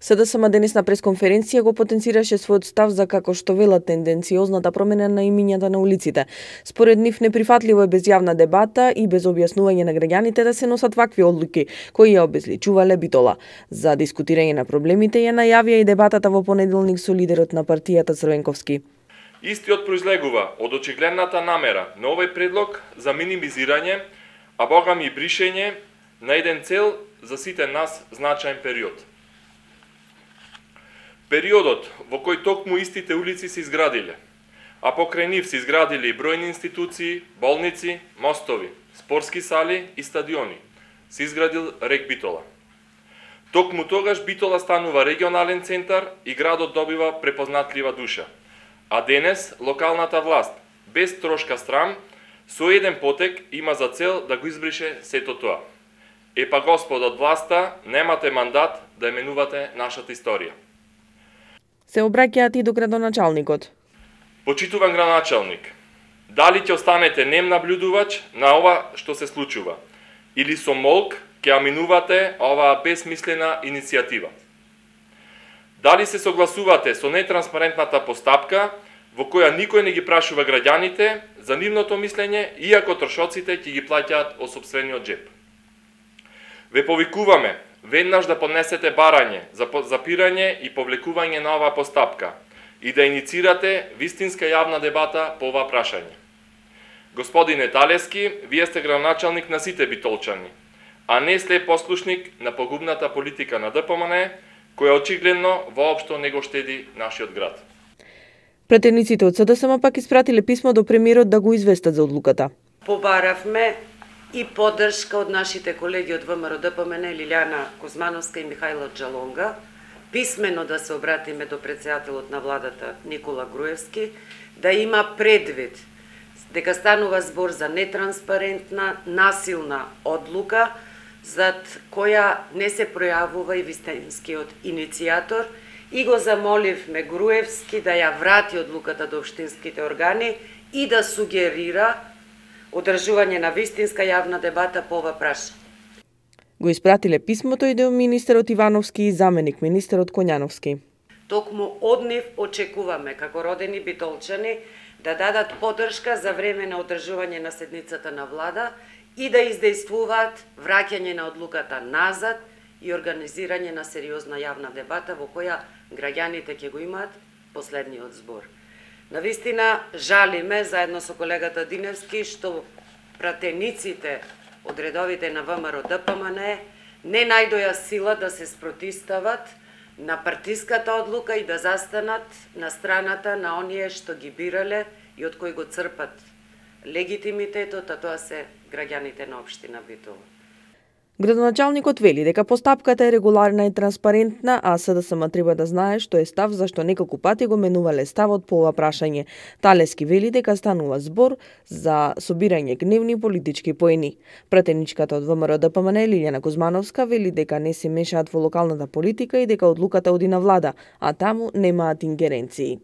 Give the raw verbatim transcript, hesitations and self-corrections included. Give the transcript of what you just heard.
СДСМ денес на пресконференција го потенцираше својот став за како што велат тенденциозната промена на имињата на улиците. Според нив неприфатливо е без јавна дебата и без објаснување на граѓаните да се носат вакви одлуки кои ја обезличувале Битола. За дискутирање на проблемите ја најавија и дебатата во понеделник со лидерот на партијата Црвенковски. Истиот произлегува од очигледната намера на овој предлог за минимизирање, а богами и бришење на еден цел за сите нас значаен период. Периодот во кој токму истите улици се изградиле, а покрај нив се изградили и бројни институции, болници, мостови, спортски сали и стадиони, се изградил рек Битола. Токму тогаш Битола станува регионален центар и градот добива препознатлива душа. А денес локалната власт, без трошка страм, со еден потек има за цел да го избрише сето тоа. Епа господот власта, немате мандат да именувате нашата историја. Се обраќаат и до градоначалникот. Почитуван градоначалник, дали ќе останете нем наблюдувач на ова што се случува, или со молк ќе аминувате оваа безсмислена иницијатива? Дали се согласувате со нетранспарентната постапка во која никој не ги прашува граѓаните за нивното мислење, иако трошоците ќе ги плаќаат од сопствениот џеп? Ве повикуваме веднаш да поднесете барање за запирање и повлекување на оваа постапка и да иницирате вистинска јавна дебата по ова прашање. Господине Талески, вие сте градоначалник на сите битолчани, а не слеп послушник на погубната политика на ДПМН, која очигледно воопшто не го штеди нашиот град. Пратениците од СДСМ пак испратиле писмо до премиерот да го известат за одлуката. Побаравме и поддршка од нашите колеги од ВМРО ДПМН Лилјана Кузмановска и Михајло Джалонга, писмено да се обратиме до претседателот на владата Никола Груевски, да има предвид дека станува збор за нетранспарентна, насилна одлука, зад која не се пројавува и вистинскиот иницијатор, и го замоливме Груевски да ја врати одлуката до општинските органи и да сугерира одржување на вистинска јавна дебата по ова прашање. Го испратиле писмото и до министерот Ивановски и заменик министерот Коњановски. Токму од нив очекуваме, како родени битолчани, да дадат поддршка за време на одржување на седницата на влада и да издействуваат враќање на одлуката назад и организирање на сериозна јавна дебата во која граѓаните ќе го имаат последниот збор. Навистина жалиме заедно со колегата Диневски што пратениците од редовите на ВМРО ДПМН не најдоја сила да се спротистават на партиската одлука и да застанат на страната на оние што ги бирале и од кои го црпат легитимитетот, а тоа се граѓаните на општина Битола. Градоначалникот вели дека постапката е регуларна и транспарентна, а СДСМ треба да знае што е став зашто неколку пати го менувале ставот по ова прашање. Талески вели дека станува збор за собирање гневни политички поени. Пратеничката од ВМРО ДПМН Лилјана Кузмановска вели дека не се мешаат во локалната политика и дека одлуката оди на влада, а таму немаат ингеренции.